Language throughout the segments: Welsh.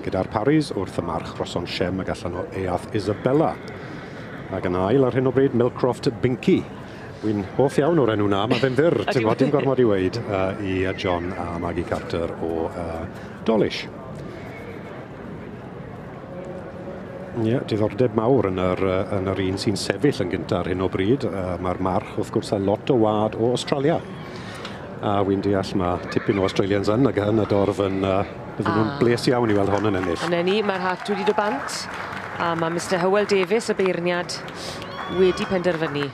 Gyda'r Parrys wrth y march Roson Shem ag allan o Earth Isabella. Ac yn ail ar hyn o bryd Millcroft Binky. Wy'n hoff iawn o'r enw na, mae fe'n fyr, ti'n gwybod, dim gormod i weud i John a Maggie Carter o Dawlish. Ie, yeah, diddordeb mawr yn yr, yn yr un sy'n sefyll yn gyntaf ar hyn o bryd. Mae'r march, wrth gwrs, a lot o wad o Australia. A wy'n deall mae tipyn o Australians yn ac yn y dorf yn... Bydden nhw'n bles iawn i weld hon yn ennill. A 'na ni, mae'r hat wedi dod bant. A mae Mr Hywel Davies, y beirniad, wedi penderfynu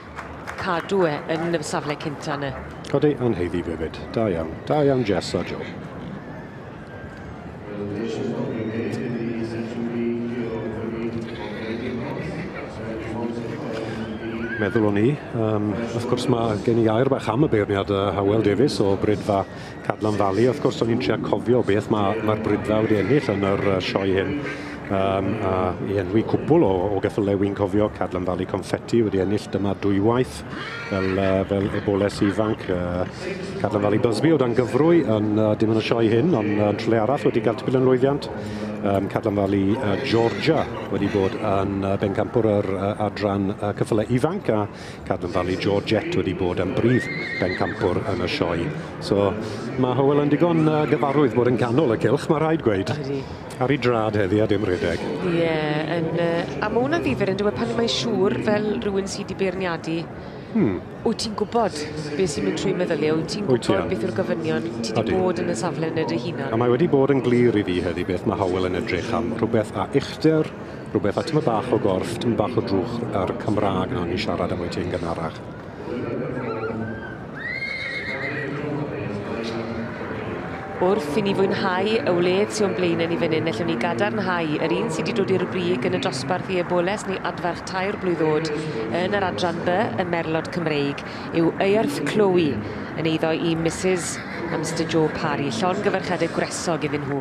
cadw e yn y safle cynta yna. Codi, yn heiddi hefyd. Da iawn. Da iawn Jess a Joe. Meddwl o'n i. Wrth gwrs mae gen i air bach am y beirniad Hywel Davies o Bridfa Cadlan Valley. Wrth gwrs o'n i'n trio cofio beth mae'r Bridfa wedi ennill yn yr sioe hyn. A i enwi cwpl o geffylau wy'n cofio, Cadlan Valley Confetti wedi ennill dyma dwywaith fel eboles ifanc. Cadlan Valley Busby o dan gyfrwy yn dim yn y sioe hyn, ond yn trwle arall wedi cael tipyn o lwyddiant. Cadlan Valley Georgia wedi bod yn bencampwr yr adran ceffylau ifanc, a Cadlan Valley Georgette wedi bod yn brif bencampwr yn y sioe. So mae Hywel yn digon gyfarwydd bod yn canol y cylch, mae rhaid gweud. Ydy. Ar ei drad heddi a dim rhedeg. Ie, a mae hwnna'n ddifyr yn dweud pan mae'n siŵr fel rhywun sydd wedi beirniadu, wyt ti'n gwybod beth sy'n mynd trwy meddyliau, wyt ti'n gwybod beth yw'r gofynion, ti wedi bod yn y safle yna dy hunan. A mae wedi bod yn glir i fi heddi beth mae Hywel yn edrych am, rhywbeth a uchder, rhywbeth a tyma bach o gorff, tyma bach o drwch ar Cymraeg na o'n i'n siarad am wyt ti'n gynharach. Wrth i ni fwynhau y wledd sy'n o'n blaenau ni fan hyn, allwn ni gadarnhau yr un sydd wedi dod i'r brig yn y dosbarth i eboles neu adferch 3 blwydd oed yn yr adran B y Merlod Cymreig yw Earth Chloe yn eiddo i Mrs a Mr Joe Parry. Llongyfarchiadau gwresog iddyn nhw.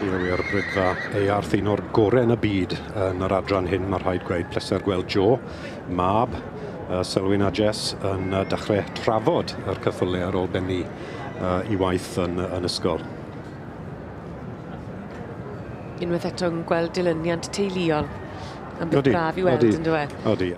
Ie wir, Bridfa Earth, un o'r gorau yn y byd yn yr adran hyn, mae rhaid gweud. Pleser gweld Joe, mab Selwyn a Jess yn dechrau trafod yr ceffylau ar ôl bennu i waith yn ysgol. Unwaith eto'n gweld dilyniant teuluol. Am beth braf i weld, yn dyw e? Odi.